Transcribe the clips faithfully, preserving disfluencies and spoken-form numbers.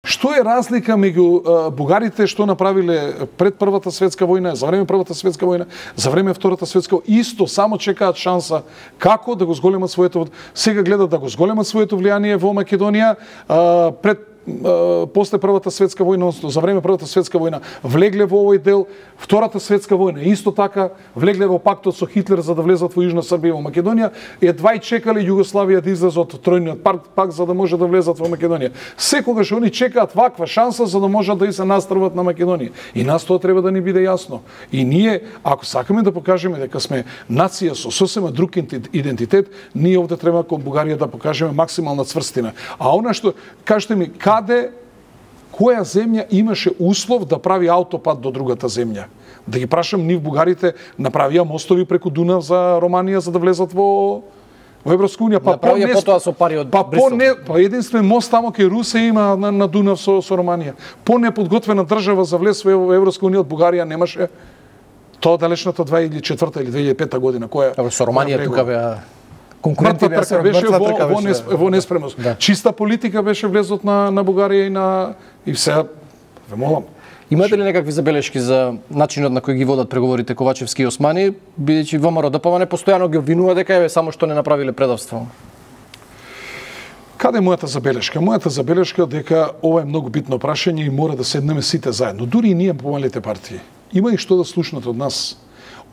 Што е разлика меѓу бугарите што направиле пред Првата светска војна, за време Првата светска војна, за време Втората светска војна, исто само чекаат шанса како да го зголемат своето, сега гледат да го зголемат своето влијание во Македонија, пред после Првата светска војна, за време Првата светска војна, влегле во овој дел. Втората светска војна исто така влегле во пактот со Хитлер за да влезат во Јужна Србија и во Македонија, едва и чекале Југославија да излезе од тројниот пакт за да може да влезат во Македонија. Секогаш они чекаат ваква шанса за да можат да и се настрват на Македонија. И нас тоа треба да ни биде јасно. И ние, ако сакаме да покажеме дека сме нација со сосема друг идентитет, ние овде треба кон Бугарија да покажеме максимална цврстина. А она што кажете ми, каде, која земја имаше услов да прави аутопат до другата земја? Да ги прашам, нив бугарите направија мостови преку Дунав за Романија за да влезат во во Европска унија, па по не потоа со пари од па Брисел. По не, па единствен мост тамо кај Русе има на, на Дунав со со Романија. По неподготвена држава за влез во Европска унија од Бугарија немаше. Тоа далечната две илјади и четврта или две илјади и пета година која со Романија тука беа конкуренти трка беше во, во, нес, во неспремност. Да. Чиста политика беше влезот на, на Бугарија и на и сега ве молам. Имате ли некакви забелешки за начинот на кој ги водат преговорите Ковачевски и Османи, бидејќи ВМРО ДПМН постојано ги обвинува дека е само што не направиле предавство? Каде е мојата забелешка? Мојата забелешка дека ова е многу битно прашање и мора да седнеме сите заедно, дури и ние помалите партии. Има и што да слушнат од нас.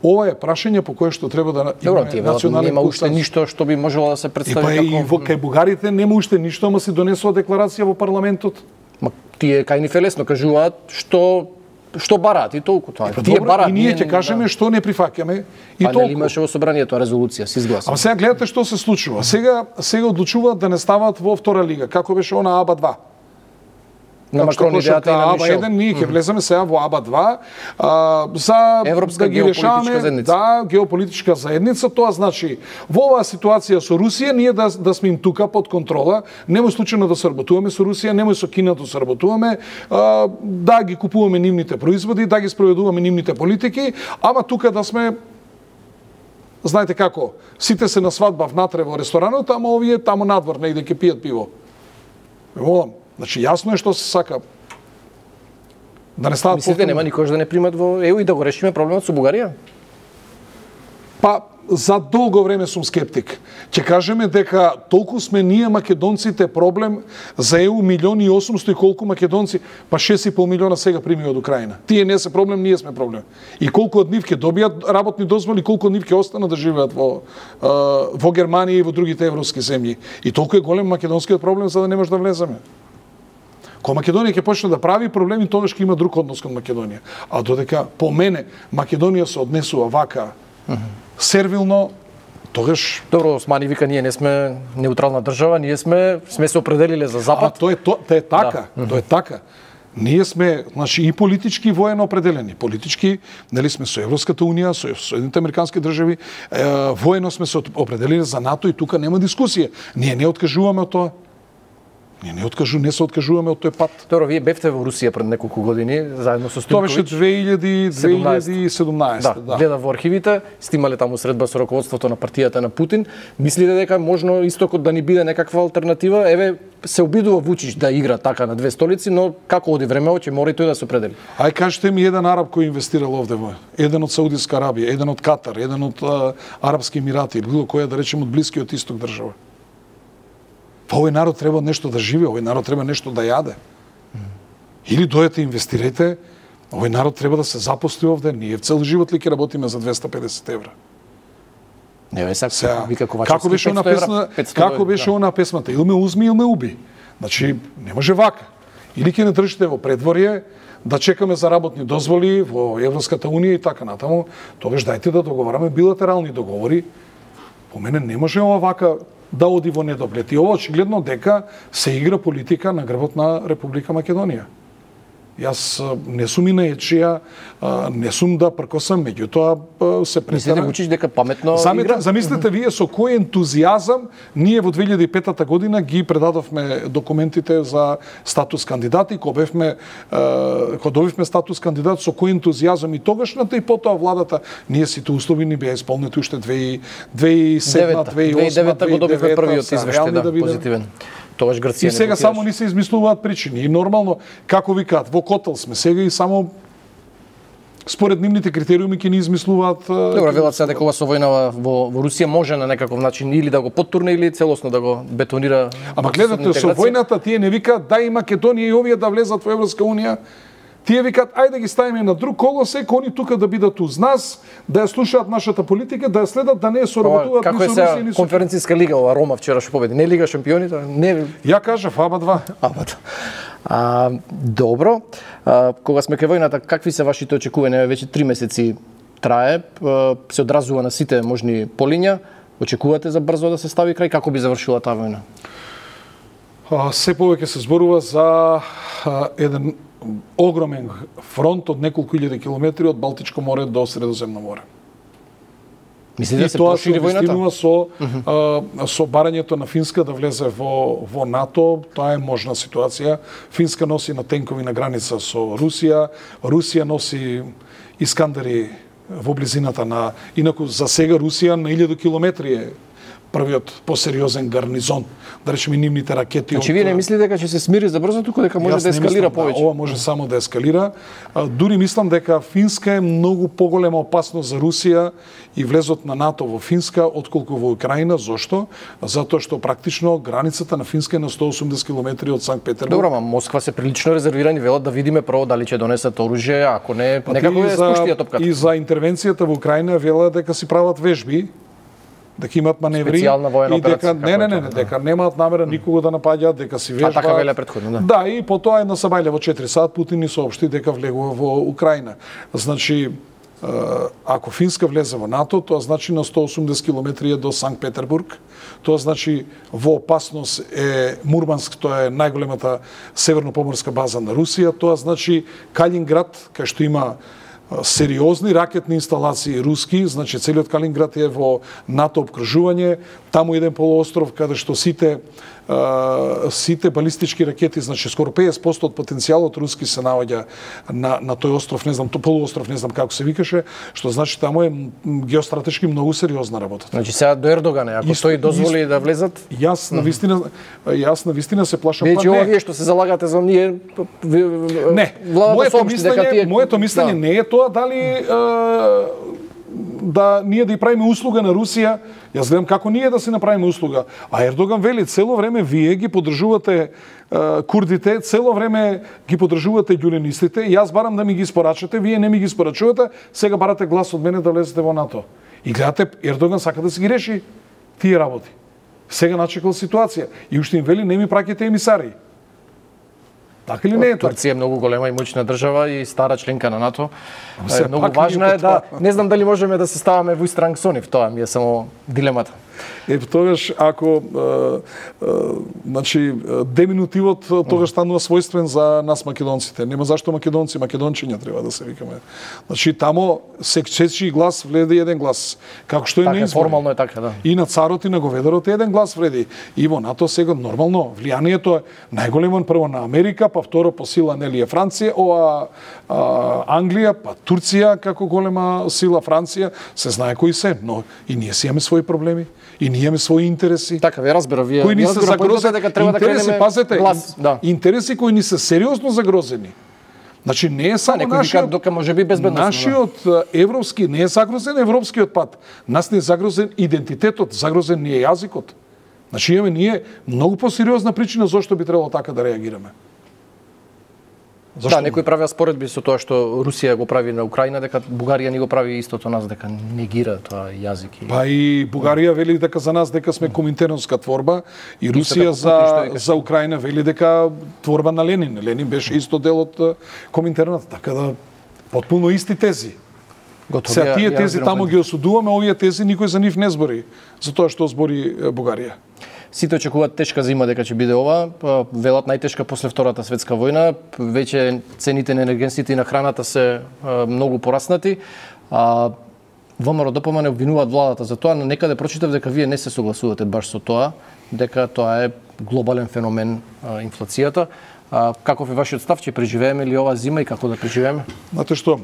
Ова е прашање по кое што треба да имаме национален нема уште ништо што би можело да се представи како. И па и во кај бугарите нема уште ништо, ама се донесува декларација во парламентот. Ма тие кај ни фелесно кажуваат што што бараат и толку тоа. Па, тие бараат, и ние ќе кажеме да. Што не прифаќаме и па, толку. Па имаше во собранието резолуција се изгласа. А сега гледате што се случува. Сега сега одлучуваат да не стават во втора лига, како беше она АБА два. На Макрон идејата и на АБА еден, ние ќе влеземе сега во АБА два а, за Европска да ги решаваме, заедница. Да, геополитичка заедница, тоа значи во оваа ситуација со Русија ние да да сме им тука под контрола, немој случајно да сработуваме со Русија, немој со Кина да сработуваме, а, да ги купуваме нивните производи, да ги спроведуваме нивните политики, ама тука да сме знаете како, сите се на свадба внатре во ресторанот, ама овие таму надвор негде ќе пијат пиво. Ме молам. Значи, јасно е што се сака. Да не стават Мислите, нема никош да не примат во ЕУ и да го решиме проблемот со Бугарија? Па, за долго време сум скептик. Ќе кажеме дека толку сме ние македонците проблем за ЕУ милиони и осумсто и колку македонци, па шест и пол милиона сега прими од Украина. Тие не се проблем, ние сме проблем. И колку од нив ќе добијат работни дозволи, колку од нив ќе останат да живеат во во Германија и во другите европски земји. И толку е голем македонскиот проблем за да не може да влеземе. Кога Македонија ќе почне да прави проблеми, тогаш ќе има друг однос кон Македонија. А додека по мене Македонија се однесува вака сервилно, тогаш добро, Османи вика ние не сме неутрална држава, ние сме сме се определиле за запад. А тоа е тоа е така, да. Тоа е така. Ние сме, значи, и политички и воено определени. Политички, нели сме со Европската унија, со Соединените американски држави, е, воено сме се определени за НАТО и тука нема дискусија. Ние не откажуваме од тоа. Ние не откажу, не се откажуваме од тој пат. Добро, вие бевте во Русија пред неколку години заедно со Стојковиќ. Тоа беше две илјади и седумнаесета. Да, да. Гледав во архивите, сте имале таму средба со раководството на партијата на Путин. Мислите дека можно истокот да ни биде некаква алтернатива? Еве, се обидува Вучич да игра така на две столици, но како оди времето ќе мора и тој да се определи. Ај кажете ми еден араб кој инвестирал овде во, еден од Саудиска Арабија, еден од Катар, еден од а, Арапски Емирати или било која да речем од Блискиот Исток држава. Па овој народ треба нешто да живее, овој народ треба нешто да јаде. Или дојдете инвестирате, овој народ треба да се запосли овде, ние цел живот ли ќе работиме за двеста и педесет евра. Не, ве сега, вика Ковачевски, како беше она песна, како беше она песмата, или ме узми, или ме уби. Значи, не може вака. Или ќе не држите во предворје, да чекаме за работни дозволи во Европската унија и така натаму, тогаш дајте да договараме билатерални договори. По мене не може ова вака да оди во недоглед. И ова очигледно дека се игра политика на грбот на Република Македонија. Јас не сум и наечија, не сум да пркосам, меѓутоа се претера. Мислите Вучич дека паметно Замете, игра? Замислете вие со кој ентузијазам ние во две илјади и пета година ги предадовме документите за статус кандидати, кога бевме кога добивме статус кандидат, со кој ентузијазам и тогашната и потоа владата, ние сите услови ни беа исполнети уште две и седма, две и осма, две и девета го добивме првиот извештај, да, позитивен. Тогаш Грција и сега само ни се измислуваат причини. И нормално, како викаат, во котел сме сега и само според нивните критериуми ќе ни измислуваат. Добро, велат се дека ова со војна во, во Русија може на некаков начин или да го поттурне или целосно да го бетонира. Ама гледате, со војната тие не викаат да и Македонија и овие да влезат во Европска унија. Тие викаат ајде да ги ставиме на друг колосек, они тука да бидат уз нас, да ја слушаат нашата политика, да ја следат, да не ја соработуваат ни со Русија ни со конференцијска лига ова Рома вчера што победи. Не лига шампиони, не. Ја кажав аба два. Аба два. А, добро. А, кога сме кај војната, какви се вашите очекувања? Веќе три месеци трае, се одразува на сите можни полиња. Очекувате за брзо да се стави крај? Како би завршила таа војна? А, се повеќе се зборува за а, еден огромен фронт од неколку илјади километри од Балтичко море до Средоземно море. Мислите да се прошири војната? И тоа се со uh-huh. а, со барањето на Финска да влезе во во НАТО, тоа е можна ситуација. Финска носи на тенкови на граница со Русија, Русија носи Искандери во близината на, инаку за сега Русија на илјади километри е првиот посериозен гарнизон, да речеме нивните ракети. Значи вие не мислите дека ќе се смири за брзо, туку дека може да ескалира повеќе? Да, ова може само да ескалира. Дури мислам дека Финска е многу поголема опасност за Русија и влезот на НАТО во Финска отколку во Украина. Зошто? Затоа што практично границата на Финска е на сто и осумдесет километри од Санкт Петербург. Добро, ама Москва се прилично резервирани, велат да видиме прво дали ќе донесат оружје, ако не, па некако е спуштија топката. И за интервенцијата во Украина велат дека си прават вежби, дека имаат маневри и дека не не не, не дека немаат намера никого да напаѓаат, дека си вежбаат. А така веле претходно, да. Да, и потоа една сабајле во четири сат Путин ни соопшти дека влегува во Украина. Значи, ако Финска влезе во НАТО, тоа значи на сто и осумдесет километри е до Санкт Петербург. Тоа значи во опасност е Мурманск, тоа е најголемата северно-поморска база на Русија. Тоа значи Калининград, кај што има сериозни ракетни инсталации руски, значи целиот Калининград е во НАТО обкружување, таму еден полуостров каде што сите Uh, сите балистички ракети, значи скоро педесет проценти од потенцијалот руски се наоѓа на на тој остров, не знам, тој полуостров, не знам како се викаше, што значи таму е геостратешки многу сериозна работа. Значи сега до Ердоган, ако исто, тој дозволи исто, да влезат, јас на вистина јас на вистина се плашам. Веќе ова вие што се залагате за ние, не, моето мислење, дека моето мислење да. Не е тоа дали uh, да ние да ја правиме услуга на Русија. Јас гледам како ние да си направиме услуга. А Ердоган вели цело време вие ги поддржувате е, курдите, цело време ги поддржувате ѓуленистите. Јас барам да ми ги испорачате, вие не ми ги испорачувате, сега барате глас од мене да влезете во НАТО. И гледате, Ердоган сака да си ги реши тие работи. Сега начекал ситуација и уште им вели не ми праќате емисари. Така или не е тоа? Турција е многу голема и моćна држава и стара членка на НАТО. Е, многу важна е да, не знам дали можеме да се ставаме во ист ранг со нив, тоа ми е само дилемата. Е, тогаш ако е, е, значи деминутивот тогаш станува својствен за нас македонците. Нема зашто македонци, македончиња треба да се викаме. Значи тамо се чечи глас вледи еден глас. Како што е така, на избори. Формално е така, да. И на царот и на говедарот еден глас вреди. И во НАТО сега нормално влијанието е најголемо прво на Америка, па второ по сила нели е Франција, ова а, Англија, па Турција како голема сила, Франција, се знае кои се, но и ние си имаме своји проблеми. И ние имаме своји интереси. Така, ве разбира, вие кои ни се загрозени, дека треба да кренеме пазете, глас, да. Интереси кои ни се сериозно загрозени. Значи не е само да, нашиот, дока може би безбедносно. Нашиот да. Европски не е загрозен европскиот пат. Нас не е загрозен идентитетот, загрозен ни е јазикот. Значи имаме ние многу посериозна причина зошто би требало така да реагираме. Зашто? Да, некои правеа споредби со тоа што Русија го прави на Украина, дека Бугарија ни го прави истото нас, дека негира тоа јазик. И... Па и Бугарија вели дека за нас дека сме коминтерновска творба и Русија за за Украина вели дека творба на Ленин. Ленин беше исто дел од коминтерната, така да потпуно исти тези. Готови. Се тие тези таму ги осудуваме, овие тези никој за нив не збори, за тоа што збори Бугарија. Сите очекуваат тешка зима дека ќе биде ова, велат најтешка после Втората светска војна, веќе цените на енергенсите и на храната се многу пораснати. А ВМРО ДПМН не обвинуваат владата за тоа, но некаде прочитав дека вие не се согласувате баш со тоа, дека тоа е глобален феномен инфлацијата. А, каков е вашиот став, ќе преживееме ли ова зима и како да преживееме? Знаете што,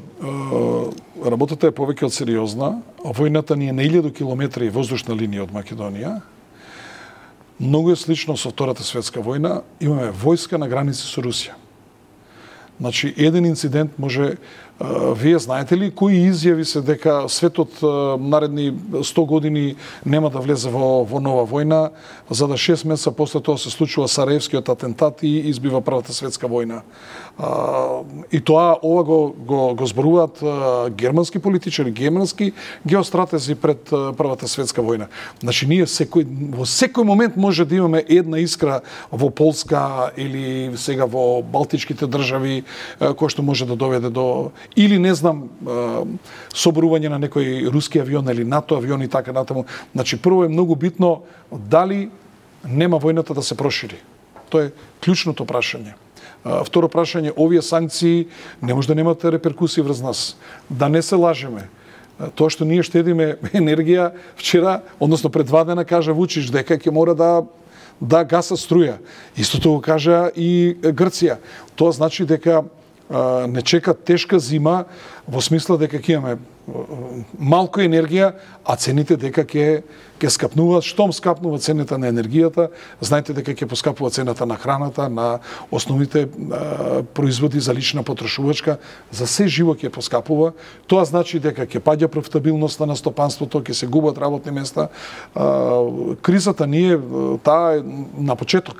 работата е повеќе од сериозна. Војната ни е на илјади километри воздушна линија од Македонија. многу е слично со Втората светска војна, имаме војска на граници со Русија. Значи, еден инцидент може, вие знаете ли кои изјави се дека светот наредни сто години нема да влезе во, во нова војна, за да шест месеца после тоа се случува Сараевскиот атентат и избива Првата светска војна. И тоа ова го, го, го зборуваат германски политичари, германски геостратези пред Првата светска војна. Значи, ние секој, во секој момент може да имаме една искра во Полска или сега во Балтичките држави, кој што може да доведе до, или не знам, соборување на некој руски авион или НАТО авион и така натаму. Значи, прво е многу битно дали нема војната да се прошири. Тоа е клучното прашање. Второ прашање, овие санкции не може да немат реперкусии врз нас. Да не се лажеме. Тоа што ние штедиме енергија, вчера, односно пред два дена, кажа Вучич дека ќе мора да да гаса струја. Истото го кажа и Грција. Тоа значи дека а, не чека тешка зима во смисла дека ќе имаме малку енергија, а цените дека ќе ќе скапнуваат. Штом скапнува цената на енергијата, знаете дека ќе поскапува цената на храната, на основните а, производи за лична потрошувачка, за се живо ќе поскапува. Тоа значи дека ќе паѓа профитабилноста на стопанството, ќе се губат работни места. А, кризата ние таа е на почеток.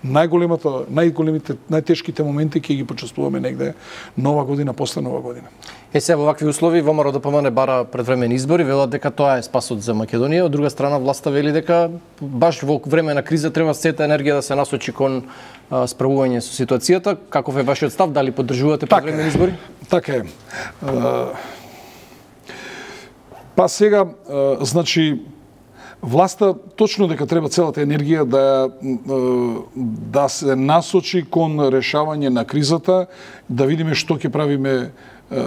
Најголемото, најголемите, најтешките моменти ќе ги почувствуваме негде нова година, после нова година. Е, сега во вакви услови ВМРО-ДПМНЕ бара предвремени избори, велат дека тоа е спасот за Македонија, од друга страна власта вели дека баш во време на криза треба сета енергија да се насочи кон а, справување со ситуацијата. Каков е вашиот став? Дали поддржувате предвремени избори? Така е. А, па сега, а, значи, власта точно дека треба целата енергија да да се насочи кон решавање на кризата, да видиме што ќе правиме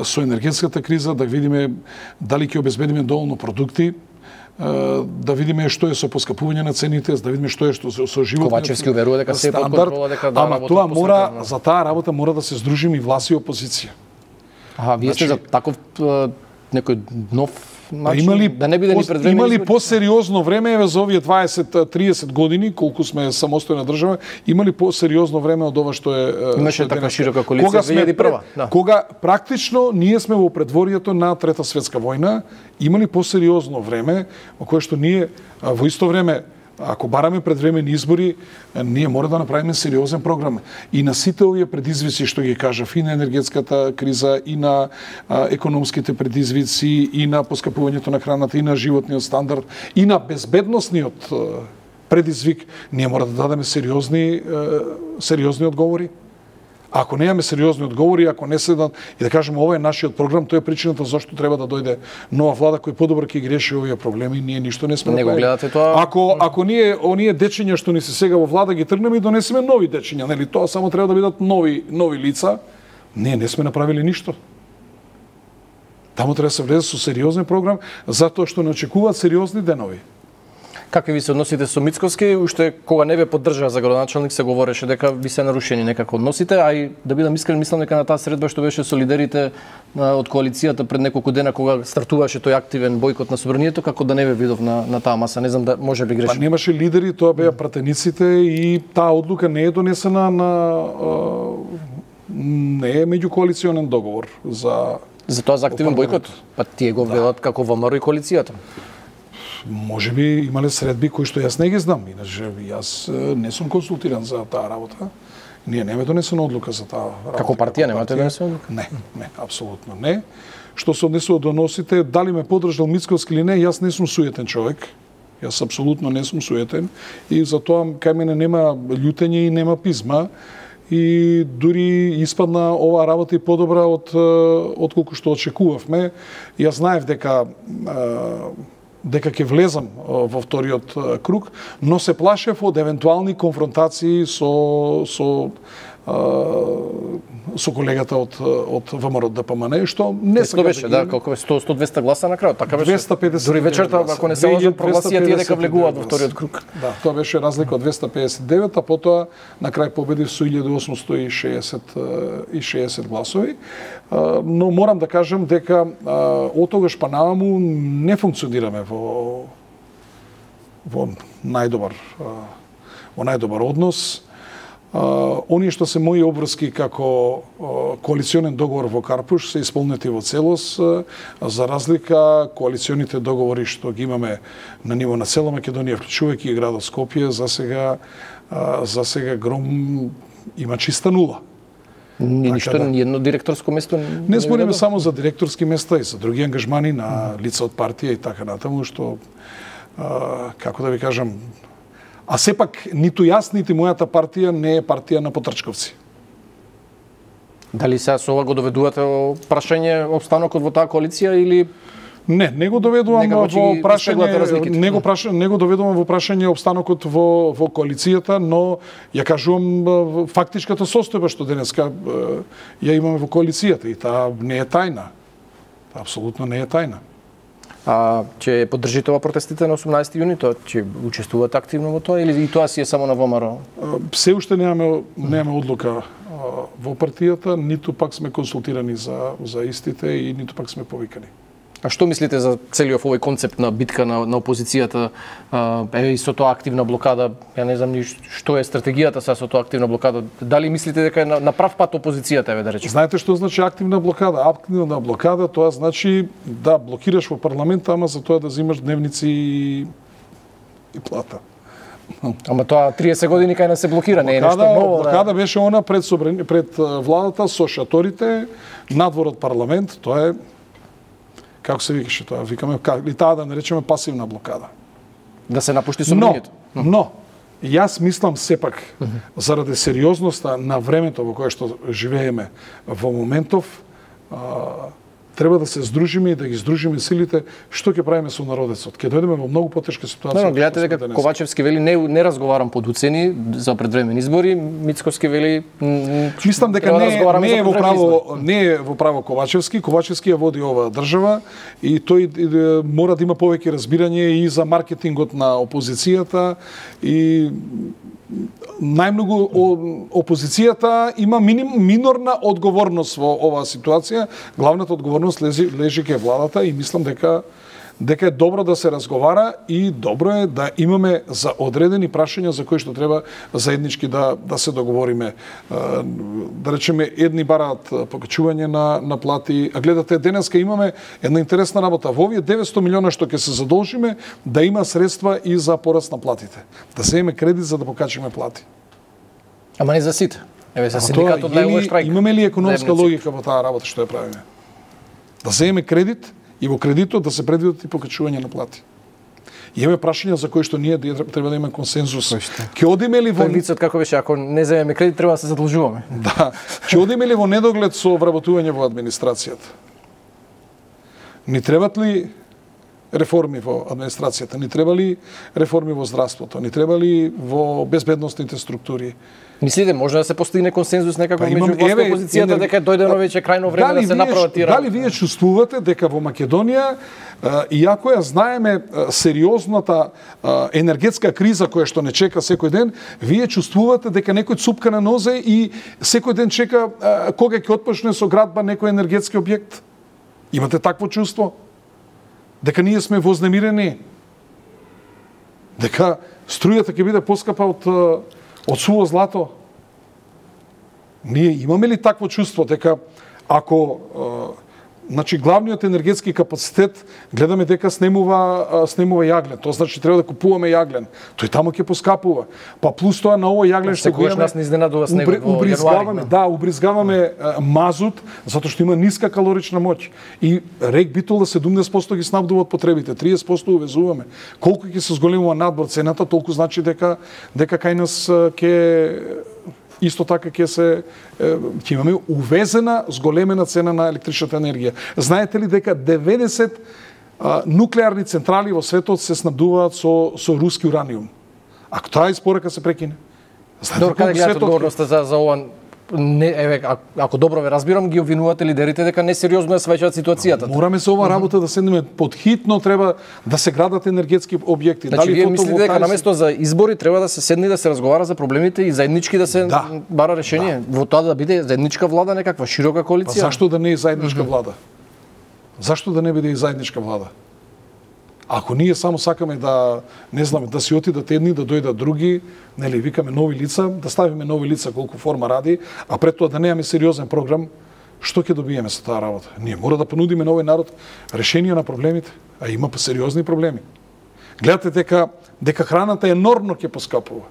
со енергетската криза, да видиме дали ќе обезбедиме доволно продукти, да видиме што е со поскапување на цените, да видиме што е што со животот. Ковачевски уверува дека се под контрола, дека да ама тоа мора, за таа работа мора да се здружиме и власт и опозиција. Аха, вие сте за таков некој нов Значи, имали, да не биде ни предвремени имали избори? по-сериозно време еве за овие дваесет тридесет години колку сме самостојна држава, имали по-сериозно време од ова што е имаше така широка коалиција две илјади и прва, да. Кога практично ние сме во предворието на Трета светска војна, имали по-сериозно време во кое што ние во исто време, ако бараме предвремени избори, ние мора да направиме сериозен програм. И на сите овие предизвици што ги кажав, и на енергетската криза, и на а, економските предизвици, и на поскапувањето на храната, и на животниот стандард, и на безбедносниот а, предизвик, ние мора да дадеме сериозни, а, сериозни одговори. Ако немаме сериозни одговори, ако не седат и да кажеме ова е нашиот програм, тоа е причината зашто треба да дојде нова влада која подобро ќе ги реши овие проблеми, ние ништо не сме не го гледате тоа. Ако ако ние оние дечиња што ни се сега во влада ги тргнеме и донесеме нови дечиња, нели тоа само треба да бидат нови нови лица, ние не сме направиле ништо. Таму треба да се влезе со сериозен програм, затоа што не очекуваат сериозни денови. Какви ви се односите со Мицковски? Уште кога не ве поддржаа за градоначалник се говореше дека ви се нарушени некако односите, а и да бидам искрен, мислам дека на таа средба што беше со лидерите од коалицијата пред неколку дена кога стартуваше тој активен бојкот на собранието, како да не ве видов на, на таа маса. Не знам, да може би грешам. Па немаше лидери, тоа беа пратениците и таа одлука не е донесена на не е меѓукоалиционен договор за за тоа за активен бојкот. Па тие го велат да. Како ВМРО и коалицијата. Може би имале средби кои што јас не ги знам, иначе јас не сум консултиран за таа работа. Ние немаме донесена одлука за таа работа. Како партија немате донесена одлука? Не, не, апсолутно не. Што се однесува до носите, дали ме поддржал Мицковски или не, јас не сум суетен човек. Јас апсолутно не сум суетен и затоа кај мене нема љутење и нема пизма. И дури испадна оваа работа и подобра од од колку што очекувавме. Јас знаев дека дека ќе влезам во вториот круг, но се плашев од евентуални конфронтации со со со колегата од од ВМРО-ДПМНЕ, што не се беше, да, колку е сто до двесте гласа на крајот, така беше. двесте педесет Дури вечерта, ако не се лажам, прогласија тие дека влегуваат во вториот круг. Да, тоа беше разлика од двесте педесет и девет, а потоа на крај победив со илјада осумсто и шеесет гласови. Но морам да кажам дека од тогаш па наваму не функционираме во во најдобар во најдобар однос. Uh, оние што се мои обврски како uh, коалиционен договор во Карпуш се исполнети во целост, uh, за разлика коалиционите договори што ги имаме на ниво на цела Македонија, вклучувајќи и градот Скопје, за сега uh, за сега Гром има чиста нула. Ни ништо, да, ни едно директорско место не, не збориме само за директорски места и за други ангажмани на лица од партија и така натаму, што uh, како да ви кажам, а сепак ниту јас, нити мојата партија не е партија на потрчковци. Дали сега со ова го доведувате о прашање обстанокот во таа коалиција или не, не го доведувам во прашање, не го прашање, не го доведувам во прашање обстанокот во во коалицијата, но ја кажувам фактичката состојба што денеска ја имаме во коалицијата и таа не е тајна. Таа апсолутно не е тајна. А ќе поддржите ова протестите на осумнаесети јуни, тоа ќе учествувате активно во тоа или и тоа си е само на ВМРО? Се уште немаме немаме одлука во партијата, ниту пак сме консултирани за за истите и ниту пак сме повикани. А што мислите за целиот овој концепт на битка на, на опозицијата, еве и со тоа активна блокада? Ја не знам ни што е стратегијата са со тоа активна блокада. Дали мислите дека е на, на прав пат опозицијата, еве да речеме? Знаете што значи активна блокада? Активна блокада тоа значи да блокираш во парламент, ама за тоа да земаш дневници и, и плата. Ама тоа триесет години кај нас се блокира, не е нешто ново. Блокада да... беше она пред собрани, пред владата со шаторите, надвор од парламент, тоа е како се викаше тоа, викаме, и таа да наречеме пасивна блокада. Да се напушти собранието. Но, но, јас мислам сепак, uh -huh. заради сериозноста на времето во кое што живееме во моментов, а, треба да се здружиме и да ги здружиме силите, што ќе правиме со народецот. Ќе дојдеме во многу потешка ситуација. Но, но гледате дека Ковачевски вели не не разговарам под уцени за предвремени избори, Мицковски вели мислам дека не, да не е во право не е во право Ковачевски, Ковачевски ја води оваа држава и тој и, мора да има повеќе разбирање и за маркетингот на опозицијата и најмногу опозицијата има миним, минорна одговорност во оваа ситуација. Главната одговорност лежи, лежи кај владата и мислам дека дека е добро да се разговара и добро е да имаме за одредени прашања за кои што треба заеднички да да се договориме. Да речеме, едни бараат покачување на на плати, а гледате денеска имаме една интересна работа. Во овие деветсто милиона што ќе се задолжиме, да има средства и за пораст на платите. Да земеме кредит за да покачиме плати. Ама не за сите. Еве за синдикатот најувај штрајк. Имаме ли економска логика во таа работа што ја правиме? Да земеме кредит и во кредитот да се предвидат и покачување на плати. И имаме прашања за кои што ние треба да имаме консензус. Ќе одиме ли во лицот како беше, ако не земеме кредит треба да се задолжуваме. Да. Ќе одиме ли во недоглед со вработување во администрацијата? Ни требат ли реформи во администрацијата? Ни треба ли реформи во здравството? Ни треба ли во безбедносните структури? Мислите може да се постигне консензус некако меѓу власта и опозицијата дека дојдено веќе крајно време да се направат тие работи? Дали вие чувствувате дека во Македонија, иако ја знаеме сериозната енергетска криза која што не чека секој ден, вие чувствувате дека некој цупка на нозе и секој ден чека кога ќе отпочне со градба некој енергетски објект? Имате такво чувство? Дека ние сме вознемирени? Дека струјата ќе биде поскапа од од суво злато? Ние имаме ли такво чувство дека ако значи главниот енергетски капацитет гледаме дека снемува снемува јаглен, тоа значи треба да купуваме јаглен. Тој таму ќе поскапува. Па плюс тоа на овој јаглен што го имаме нас не изненадува снегот во јануари. Да, убризгаваме мазут затоа што има ниска калорична моќ. И рек битол да седумдесет проценти ги снабдува од потребите, триесет проценти увезуваме. Колку ќе се зголемува надбор цената, толку значи дека дека кај нас ќе исто така ќе се ќе имаме увезена зголемена цена на електричната енергија. Знаете ли дека деветдесет а, нуклеарни централи во светот се снабдуваат со со руски ураниум? Ако таа испорака се прекине? Знаете каде гледате одговорноста за за ова? Не, еве, ако добро ве разбирам, ги обвинувате лидерите дека несериозно ја сваќаат ситуацијата. Мораме со ова работа да седнеме подхитно, треба да се градат енергетски објекти. Значи, дали вие мислите дека наместо за избори треба да се седне и да се разговара за проблемите и заеднички да се да. бара решение? Да. Во тоа да биде заедничка влада, некаква широка коалиција? Па зашто да не е заедничка влада? Зашто да не биде и заедничка влада? Ако ние само сакаме да, не знам, да си отидат едни, да дојдат други, нели, викаме нови лица, да ставиме нови лица колку форма ради, а пред тоа да немаме сериозен програм, што ќе добиеме со таа работа? Ние мора да понудиме на овој народ решение на проблемите, а има сериозни проблеми. Гледате дека дека храната енормно ќе поскапува.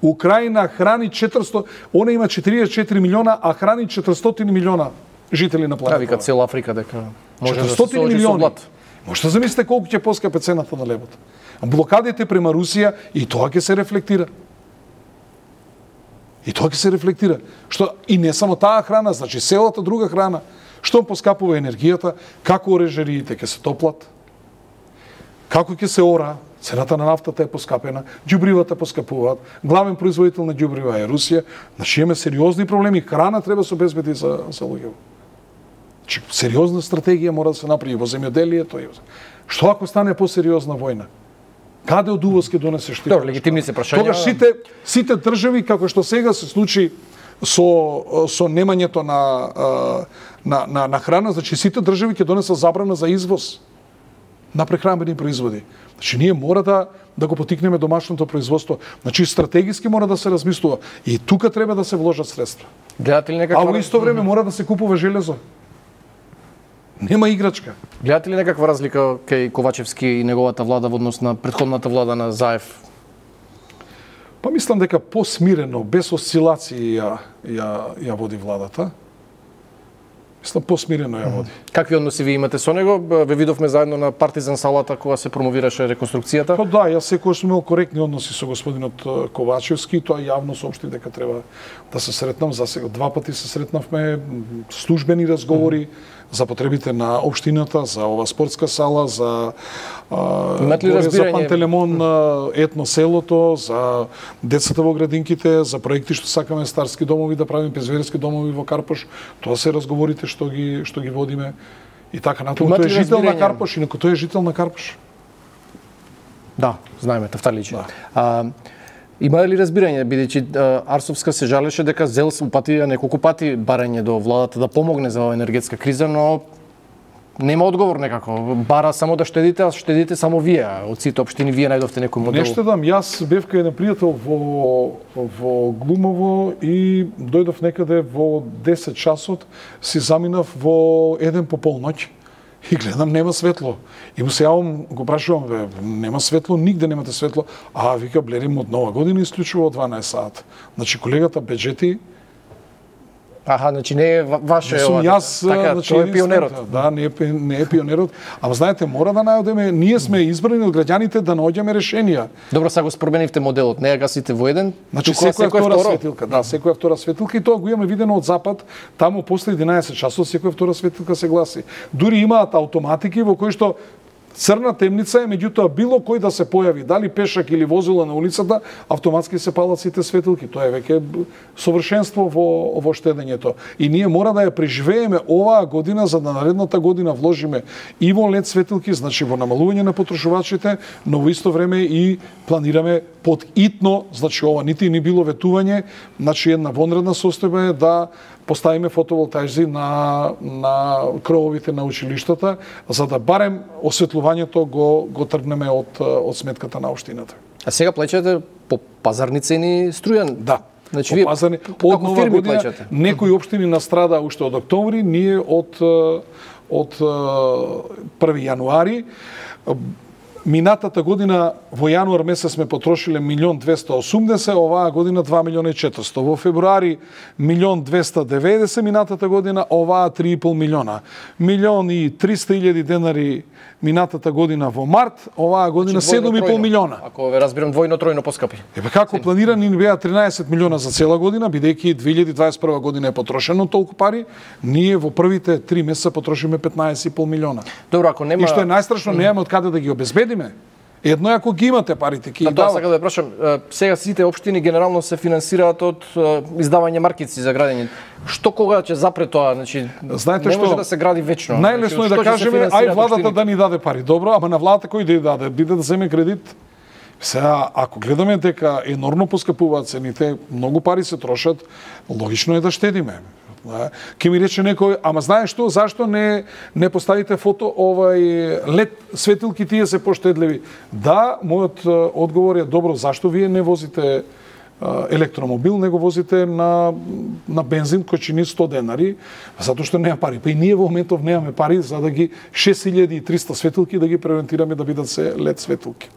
Украина храни четиристотини, она има четиридесет и четири милиона, а храни четиристотини милиона жители на планетата. Да, вика цела Африка дека може да се четиристотини соочи со милиони. блат. Може да замислите колку ќе поскапе цената на левот. Блокадите према Русија и тоа ќе се рефлектира. И тоа ќе се рефлектира. Што и не само таа храна, значи селата друга храна. Што поскапува енергијата, како орежариите ќе се топлат, како ќе се ора, цената на нафтата е поскапена, ѓубривата поскапуваат, главен производител на ѓубрива е Русија, значи имаме сериозни проблеми, храна треба да се обезбеди за, за луѓето. Значи, сериозна стратегија мора да се направи во земјоделието. Што ако стане посериозна војна? Каде од увоз ќе донесеш ти? Добро, легитимни се прашања. Тогаш сите сите држави како што сега се случи со со немањето на на на, на храна, значи сите држави ќе донесат забрана за извоз на прехранбени производи. Значи ние мора да да го потикнеме домашното производство. Значи стратегиски мора да се размислува и тука треба да се вложат средства. Гледате ли некаква... А во исто време мора да се купува железо. Нема играчка. Гледате ли некаква разлика кај Ковачевски и неговата влада во однос на претходната влада на Заев? Па мислам дека посмирено, без осцилации ја, ја, ја води владата. Мислам посмирено ја води. Какви односи ви имате со него? Ве видовме заедно на Партизан салата кога се промовираше реконструкцијата. Па да, јас секогаш сум имал коректни односи со господинот Ковачевски, тоа јавно соопшти дека треба да се сретнам. За сега два пати се сретнавме, службени разговори за потребите на општината, за ова спортска сала, за а, за Пантелемон, етно селото, за децата во градинките, за проекти што сакаме старски домови да правиме, пензионерски домови во Карпош. Тоа се разговорите што ги што ги водиме и така натаму. Тој е жител на Карпош, инаку тој е жител на Карпош. Да, знаеме, Тафталичи. Да. А, има ли разбирање, бидејќи Арсовска се жалеше дека зел упати неколку пати барање до владата да помогне за оваа енергетска криза, но нема одговор некако. Бара само да штедите, а штедите само вие. Од сите општини вие најдовте некој модел. Не штедам, јас бев кај еден пријател во во Глумово и дојдов некаде во десет часот, си заминав во еден по полноќ. И гледам, нема светло. И му се јавам, го прашувам, бе, нема светло, нигде немате светло. А, вика, блерим од нова година исклучува од дванаесет саат. Значи, колегата Беджети... Аха, значи не е ваше... Не сум јас, така, значи, тој е пионерот. Да, не е, не е пионерот. Ама знаете, мора да најдеме, ние сме избрани од граѓаните да наоѓаме решенија. Добро, сега го спроменивте моделот, не ја гасите во еден, значи секоја втора светилка, да, секоја втора светилка и тоа го имаме видено од запад, таму после единаесет часот секоја втора светилка се гласи. Дури имаат автоматики во кои што црна темница е, меѓутоа било кој да се појави, дали пешак или возила на улицата, автоматски се палат сите светилки. Тоа е веќе совршенство во во штедењето. И ние мора да ја преживееме оваа година за да наредната година вложиме и во лед светилки, значи во намалување на потрошувачите, но во исто време и планираме под итно, значи ова нити ни било ветување, значи една вонредна состојба е да поставиме фотоволтајзи на на крововите на училиштата, за да барем осветлувањето го го тргнеме од од сметката на општината. А сега плаќате по пазарни цени струја? Да. Значи вие пазарни, од нова година плачате? Некои општини настрада уште од октомври, ние од од први јануари. Минатата година во јануар месец сме потрошиле милион двесте и осумдесет, оваа година два милиона и четиристо. Во февруари милион двесте и деветдесет, минатата година оваа три и пол милиона. Милион и триста илјади денари минатата година во март, оваа година седум и пол милиона. Ако ве разбирам, двојно тројно поскапи. Ебе како планирани ни беа тринаесет милиона за цела година, бидејќи две илјади дваесет и прва година е потрошено толку пари, ние во првите три месеца потрошиме петнаесет и пол милиона. Добро, ако нема... И што е најстрашно, немаме од каде да ги обезбедиме. Едно е ако ги имате парите, ќе ги дават. Тоа сакам да прашам, сега сите општини генерално се финансираат од издавање маркици за градење. Што кога ќе запре тоа, значи знаете не што, може да се гради вечно. Најлесно значи, е да кажеме, ај владата општините? да ни даде пари. Добро, ама на владата кој да ја даде? Биде да земе кредит? Сега, ако гледаме дека енормно поскапуваат цените, многу пари се трошат, логично е да штедиме. Ке ми рече некој, ама знаеш што, зашто не не поставите фото овај лед светилки, тие се поштедливи? Да, мојот одговор е добро, зашто вие не возите електромобил, него возите на на бензин кој чини сто денари, затоа што нема пари. Па и ние во моментов немаме пари за да ги шест илјади и триста светилки да ги превентираме да бидат се лед светилки.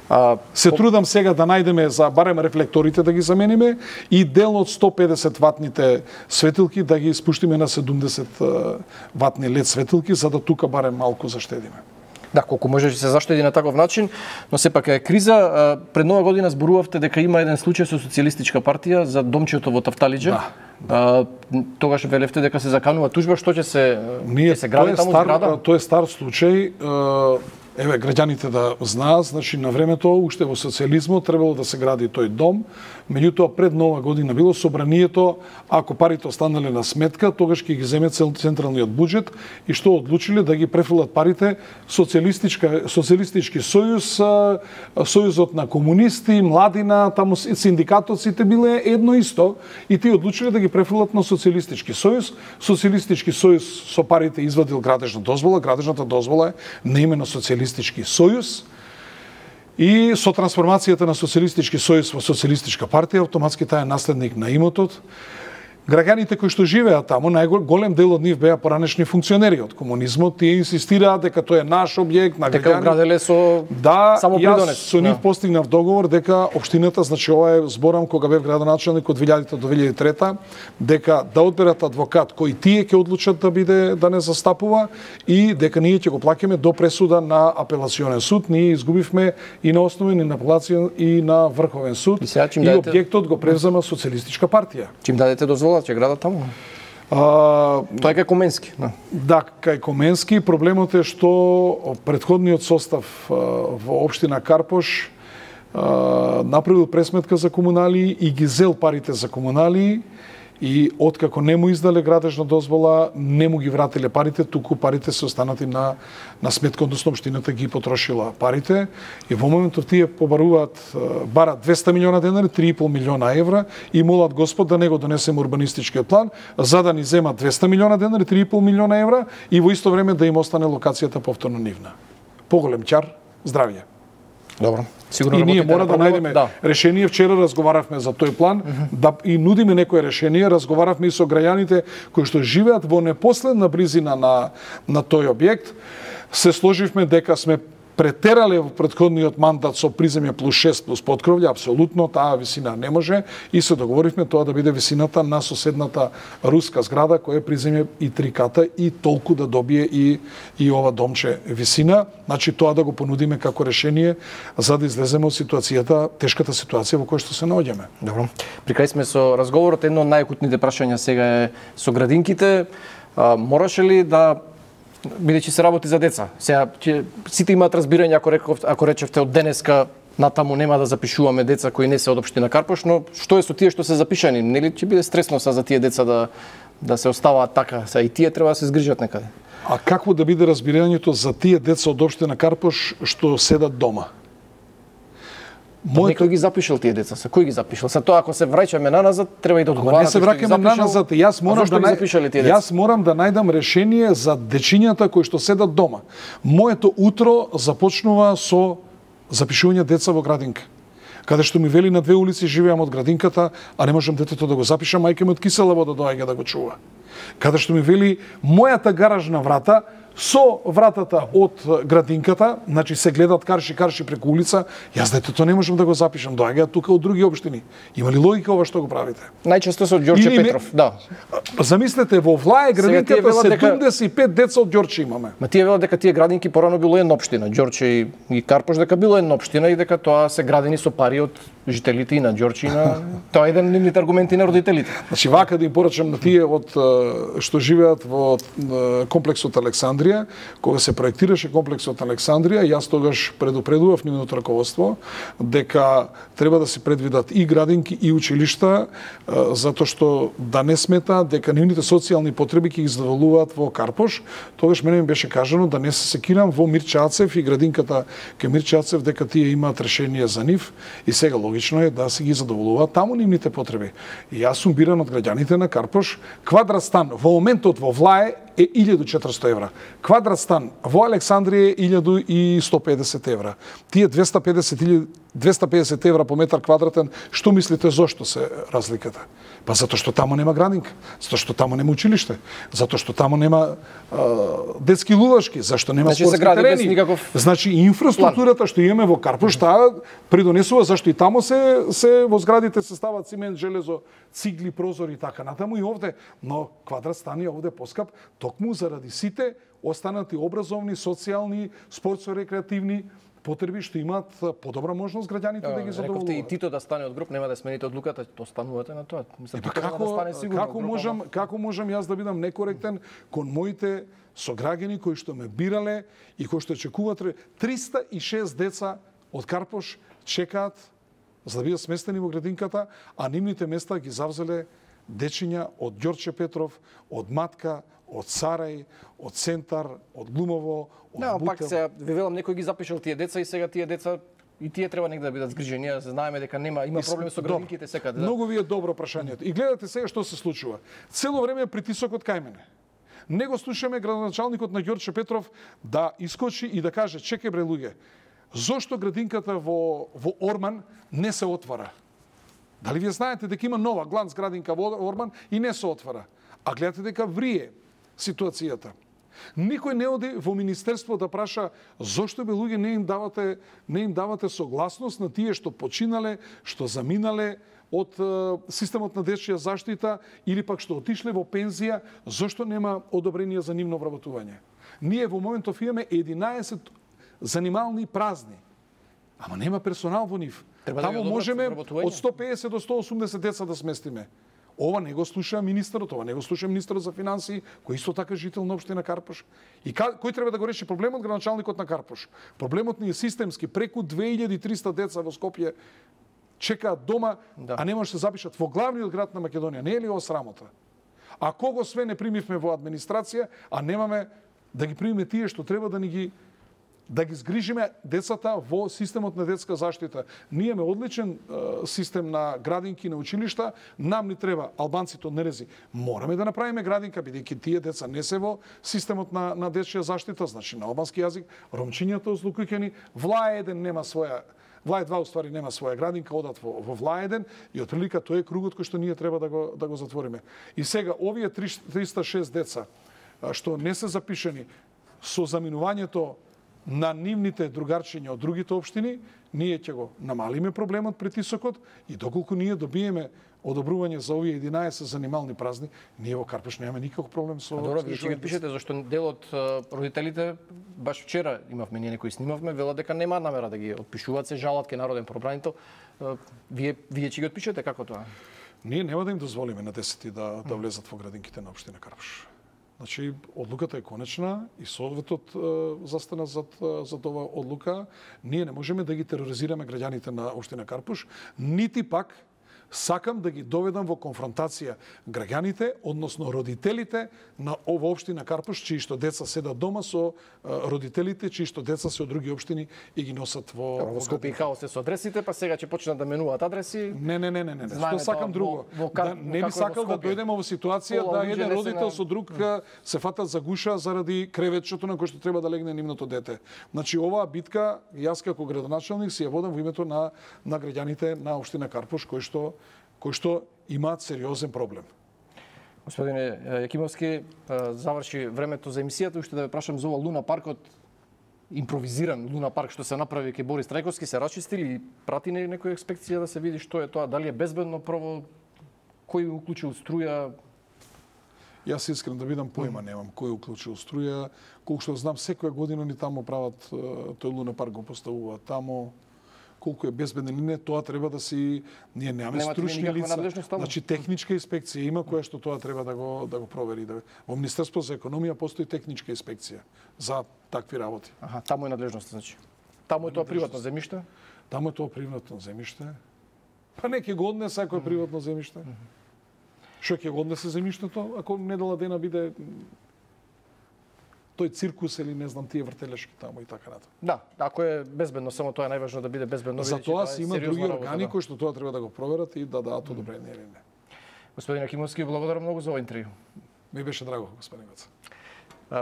А, се по... трудам сега да најдеме за барем рефлекторите да ги замениме и дел од сто педесет ватните светилки да ги спуштиме на седумдесет ватни лед светилки, за да тука барем малку заштедиме. Да, колку може да се заштеди на таков начин, но сепак е криза. Пред нова година зборувавте дека има еден случај со социјалистичка партија за домчето во Тафталиџе. Да. А, тогаш велевте дека се заканува тужба, што ќе се Ние, ќе се гради таму зграда? Тоа е стар случај. Еве, граѓаните да знаат, значи на времето, уште во социјализмот, требало да се гради тој дом, меѓутоа пред нова година било собранието, ако парите останале на сметка, тогаш ќе ги земе централниот буџет и што одлучиле да ги префрлат парите социјалистичка социјалистички сојуз, сојузот на комунисти, младина, таму синдикатот, сите биле едно исто и тие одлучиле да ги префрлат на социјалистички сојуз. Социјалистички сојуз со парите извадил градежна дозвола, градежната дозвола е на име на социјалистички сојуз. И со трансформацијата на социјалистички сојуз во социјалистичка партија, автоматски таа е наследник на имотот. Граѓаните кои што живеат таму, најголем дел од нив беа поранешни функционери од комунизмот, тие инсистираат дека тоа е наш објект на граѓани. Дека граделе со да, само придонес. Јас со нив да. постигнав договор дека општината, значи ова е зборам кога бев градоначелник од две илјади до две илјади и трета, дека да одберат адвокат кој тие ќе одлучат да биде да не застапува и дека ние ќе го плаќаме до пресуда на апелационен суд. Ние изгубивме и на основен и на апелацион и на врховен суд и, и дадете... објектот го превзема социјалистичка партија. Чим дадете дозвола ќе градат таму? А, Тоа е кај Коменски. Да. да, кај Коменски. Проблемот е што претходниот состав во општина Карпош направил пресметка за комунали и ги зел парите за комунали и откако не му издале градежна дозвола, не му ги вратиле парите, туку парите се останати на на сметка, односно општината ги потрошила парите и во моментов тие побаруваат барат двесте милиона денари, три и пол милиона евра и молат Господ да не го донесеме урбанистичкиот план, за да ни земат двесте милиона денари, три и пол милиона евра и во исто време да им остане локацијата повторно нивна. Поголем ќар, здравје. Добро. Сигурно и ние мора да најдеме да. решение. Вчера разговаравме за тој план, mm-hmm. да и нудиме некое решение. Разговаравме и со граѓаните кои што живеат во непоследна близина на на тој објект. Се сложивме дека сме претерале во претходниот мандат со приземје плюс шест плюс поткровље, апсолутно таа висина не може и се договоривме тоа да биде висината на соседната руска зграда која е приземје и три ката и толку да добие и и ова домче висина. Значи тоа да го понудиме како решение за да излеземе од ситуацијата, тешката ситуација во која што се наоѓаме. Добро. При крај сме со разговорот, едно од најакутните прашања сега е со градинките. А, мораше ли да бидејќи се работи за деца. Сега ќе сите имаат разбирање ако реков, ако речевте од денеска натаму нема да запишуваме деца кои не се од општина Карпош, но што е со тие што се запишани? Нели ќе биде стресно са за тие деца да да се оставаат така, са и тие треба да се згрижат некаде. А какво да биде разбирањето за тие деца од општина Карпош што седат дома? Мојот... Некој ги запишал тие деца, са кој ги запишал? Са тоа ако се враќаме наназад, треба и да одговарате. Не се враќаме наназад, јас морам да нај... јас морам да најдам решение за дечињата кои што седат дома. Моето утро започнува со запишување деца во градинка. Каде што ми вели на две улици живеам од градинката, а не можам детето да го запишам, мајка ми од кисела вода доаѓа да го чува. Каде што ми вели мојата гаражна врата со вратата од градинката, значи се гледат карши карши преку улица, јас детето не можам да го запишам, доаѓаат тука од други општини. Има ли логика ова што го правите? Најчесто со Ѓорче Или Петров, не... да. Замислете, во Влае градинката седумдесет и пет деца од Ѓорче имаме. Ма тие велат дека тие градинки порано било една општина, Ѓорче и, и Карпош дека било една општина и дека тоа се градени со пари од жителите и на Ѓорче и на тоа е еден од нивните аргументи на родителите. Значи вака да им порачам на тие од што живеат во комплексот Александрија, кога се проектираше комплексот Александрија, јас тогаш предупредував нивното раководство дека треба да се предвидат и градинки и училишта, затоа што да не смета дека нивните социјални потреби ќе ги задоволуваат во Карпош. Тогаш мене ми беше кажано да не се секирам во Мирче Ацев и градинката ке Мирче Ацев дека тие имаат решение за нив и сега логично е да се ги задоволуваат таму нивните потреби. И јас сум биран од граѓаните на Карпош. Квадрат стан во моментот во Влае е илјаду и четиристотини евра. Квадрат стан во Александрија е илјаду и сто и педесет евра. Тие двеста и педесет евра по метар квадратен, што мислите зошто се разликата? Па затоа што таму нема градинка, затоа што таму нема училиште, затоа што таму нема а, детски лувашки, зашто нема значи, спортски терени. Никаков... Значи инфраструктурата план. Што имаме во Карпош, таа придонесува зашто и таму се се во зградите се стават цимент, железо, цигли, прозори и така натаму и овде, но квадрат стан е овде поскап токму заради сите останати образовни, социјални, спортско-рекреативни потреби што имаат подобра можност граѓаните да ги задоволуваат. Рековте и Тито да стане од груп, нема да смените одлуката, то станувате на тоа. Мислам, па како, да стане сигурно, како можам, како можам јас да бидам некоректен кон моите сограѓани кои што ме бирале и кои што чекуваат триста и шест деца од Карпош чекаат за да бидат сместени во градинката, а нивните места ги завзеле дечиња од Ѓорче Петров, од Матка, од Сарај, од Центар, од Глумово, од да, Бутел. Пак се, ви велам, некој ги запишал тие деца и сега тие деца и тие треба негде да бидат згрижени. Ние знаеме дека нема има проблем со градинките секаде. Да. Многу ви е добро прашањето. И гледате сега што се случува. Цело време притисокот кај мене. Не го слушаме градоначалникот на Ѓорче Петров да искочи и да каже: "Чекај бре луѓе, зошто градинката во во Орман не се отвара?" Дали вие знаете дека има нова гланц градинка во Орман и не се отвара? А гледате дека врие ситуацијата. Никој не оди во министерство да праша зошто бе луѓе не им давате не им давате согласност на тие што починале, што заминале од е, системот на дечја заштита или пак што отишле во пензија, зошто нема одобрение за нивно вработување? Ние во моментов имаме единаесет занимални празни. Ама нема персонал во нив. Треба Таму да можеме од сто и педесет до сто и осумдесет деца да сместиме. Ова не го слуша министерот, ова не го слуша министерот за финансии, кој исто така жител на општина Карпош. И ка, кој треба да го реши проблемот? Градоначалникот на Карпош. Проблемот ни е системски. Преку две илјади и триста деца во Скопје чекаат дома, да. А не може да се запишат во главниот град на Македонија. Не е ли ова срамота? А кого све не примивме во администрација, а немаме да ги примиме тие што треба да ни ги да ги згрижиме децата во системот на детска заштита. Ние имаме одличен е, систем на градинки на училишта, нам ни треба албанците од Нерези. Мораме да направиме градинка бидејќи тие деца не се во системот на на дечја заштита, значи на албански јазик, ромчињата озлукуќени, Влај еден нема своја Влај два уствари нема своја градинка, одат во, во Влај еден и отприлика тој е кругот кој што ние треба да го да го затвориме. И сега овие триста и шест деца што не се запишени со заминувањето на нивните другарчиња од другите општини, ние ќе го намалиме проблемот, притисокот и доколку ние добиеме одобрување за овие единаесет занимални празни, ние во Карпош немаме никаков проблем со... Добро, вие ќе ги пишете, зашто дел од родителите, баш вчера имавме ние некои снимавме, велат дека нема намера да ги отпишуваат, се жалат ке народен пробранител. Вие, вие ќе ги отпишете, како тоа? Ние нема да им дозволиме на десети да, да влезат во градинките на општина Карпош. Значи, одлуката е конечна и Советот е, застана зад, зад ова одлука. Ние не можеме да ги тероризираме граѓаните на општина Карпош, нити пак сакам да ги доведам во конфронтација граѓаните, односно родителите на ова општина Карпош, чии што деца седат дома со родителите, чии што деца се од други општини и ги носат во... Во Скопје и хаос се со адресите, па сега ќе почнат да менуваат адреси. Не, не, не, не, не. Што сакам друго. Во, во, да, не би сакал да дојдеме во ситуација да еден родител со друг се фатат за гуша заради креветчето на кој што треба да легне нивното дете. Значи, оваа битка, јас како градоначалник си ја водам во името на, на граѓаните на општина Карпош, кои што кои што имаат сериозен проблем. Господине Јакимовски, заврши времето за емисијата, уште да ве прашам за ова Луна паркот, импровизиран Луна парк што се направи кај Борис Трајковски, се расчисти или прати не некоја експекција да се види што е тоа, дали е безбедно прво, кој уклучил струја? Јас искрен да видам појма немам кој уклучил струја, колку што знам секоја година ни таму прават тој Луна парк го поставуваат таму. Колку е безбеден или не, тоа треба да си ние немаме стручни лица. Значи техничка инспекција има која што тоа треба да го да го провери. Да... Во Министерство за економија постои техничка инспекција за такви работи. Аха, таму е надлежност, значи. Таму е тоа приватно земјиште? Таму е тоа приватно земјиште. Па не ќе го однесе ако е приватно земјиште. Што ќе го однесе земјиштето ако недела дена биде тој циркус или не знам тие вртелешки таму и така натаму. Да, ако е безбедно, само тоа е најважно да биде безбедно. За тоа си има други органи да. кои што тоа треба да го проверат и да дадат одобрение или не. Господин Акимовски, благодарам многу за овој интервју. Ми беше драго, господин Гоца.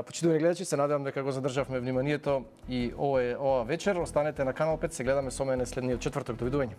Почитувани гледачи, се надевам дека го задржавме вниманието и ова, ова вечер. Останете на Канал пет, се гледаме со мене следниот четврток. Довидување.